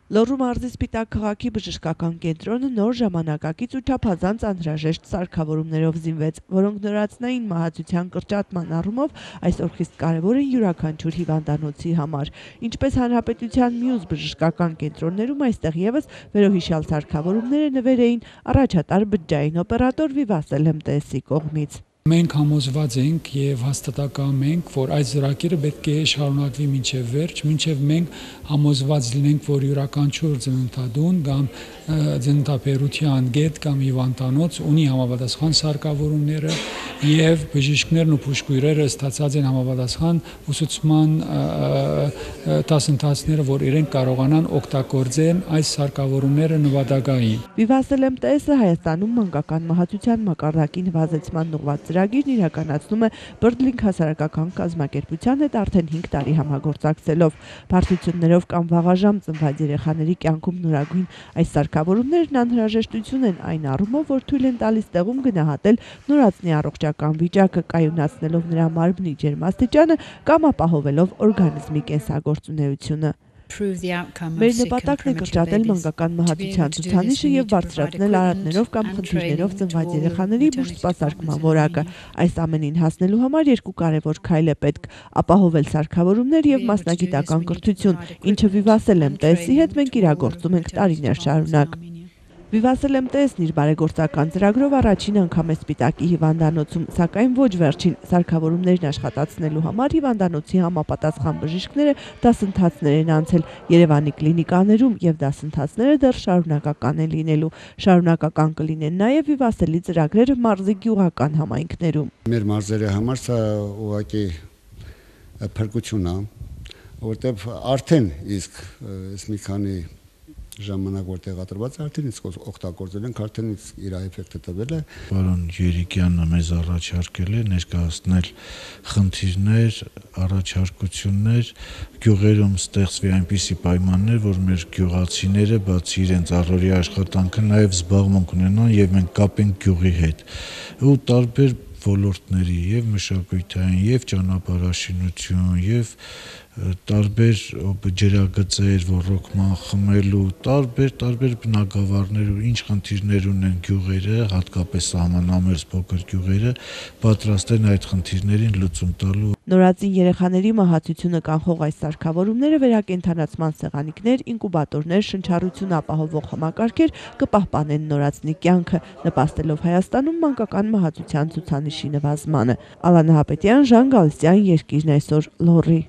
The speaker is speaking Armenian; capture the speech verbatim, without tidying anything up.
Լոռու մարզի Սպիտակ քաղաքի բժշկական կենտրոնը նոր ժամանակակից ու չափազանց անհրաժեշտ սարքավորումներով զինվեց, որոնք նորացնային մահացության կրճատման առումով այսօր խիստ կարևոր են յուրաքանչյուր հիվանդանոցի համար։ Ինչպես հանրապետության մյուս բժշկական կենտրոններում, այստեղ ևս վերոհիշյալ սարքավորումները նվեր էին առաջատար բջջային օպերատոր Վիվասել էմ տե էսի կողմից։ Մենք համոզված ենք եւ հաստատակամ ենք, որ այս ծրագիրը պետք է շարունակվի մինչեւ վերջ, մինչեւ մենք համոզված լինենք, որ յուրաքանչյուր ծննդատուն կամ ծննդաբերության գետ կամ հիվանդանոց ունի համապատասխան սարքավորումները եւ բժիշկներն ու բուժքույրերը ստացած են համապատասխան ուսուցման դասընթացները, որ իրենք կարողանան օգտագործեն այս սարքավորումները նվադագային։ Վիվասել էմ տե էսը Հայաստանում մանկական մահացության մակարդակի նվազեցման ուղղված ծրագիրն իրականացնում է Birdlink հասարակական կազմակերպության հետ արդեն հինգ տարի համագործակցելով։ Բարդություններով կամ վաղաժամ ծնված երեխաների կյանքում նորագույն այս սարքավորումներն անհրաժեշտություն են այն առումով, որ թույլ են տալիս տեղում գնահատել նորածնի առողջական վիճակը, կայունացնելով նրա մարմնի ջերմաստիճանը կամ ապահովելով օրգանիզմի կենսագործունեությունը։ Մեր նպատակն է կրճատել մանկական մահացության ցուցանիշը եւ բարձրացնել արատներով կամ խնդիրներով ծնված երեխաների բուժսպասարկման որակը։ Այս ամենին հասնելու համար երկու կարևոր քայլ է պետք՝ ապահովել սարքավորումներ եւ մասնագիտական կրթություն, ինչը Վիվասել էմ տե էսի հետ մենք իրագործում ենք տարիներ շարունակ։ Վիվասել էմ տե էսն իր բարեգործական ծրագրով առաջին անգամ է Սպիտակի հիվանդանոցում, սակայն ոչ վերջին սարքավորումներն աշխատացնելու համար հիվանդանոցի համապատասխան բժիշկները դասընթացներ են անցել Երևանի կլինիկաներում եւ դասընթացները դեռ շարունակական են լինելու։ Շարունակական կլինեն նաեւ Վիվասելի ծրագրերը մարզի գյուղական համայնքներում։ Մեր մարզերի համար սա ուղղակի փրկություն է, որտեղ արդեն իսկ այս մի քանի ժամանակ որ տեղադրված արդեն իսկ օգտագործել ենք, արդեն իսկ իր էֆեկտը տվել է։ Պարոն Երիկյանը մեզ առաջարկել է ներկայացնել խնդիրներ, առաջարկություններ, գյուղերում ստեղծվի այնպիսի պայմաններ, որ մեր գյուղացիները բացի իրենց առօրյա աշխատանքը նաև զբաղմունք ունենան եւ մենք կապենք գյուղի հետ։ Ու տարբեր ոլորտների եւ մշակութային եւ ճանապարհաշինություն եւ տարբեր ջրագծեր, ռոռոկման խմելու, տարբեր տարբեր բնակավարներ ու ինչ խնդիրներ ունեն գյուղերը, հատկապես սահմանամերձ փոքր գյուղերը, պատրաստ են այդ խնդիրներին լուծում տալու։ Նորածին երեխաների մահացությունը կանխող այս սարքավորումները վերակենդանացման սեղանիկներ, ինկուբատորներ, շնչառություն ապահովող համակարգեր կպահպանեն նորածնի կյանքը, նպաստելով Հայաստանում մանկական մահացության ցուցանիշի նվազմանը։ Ալանա Հապետյան, Ժան Գալստյան, Երկիրն այսօր, Լոռի։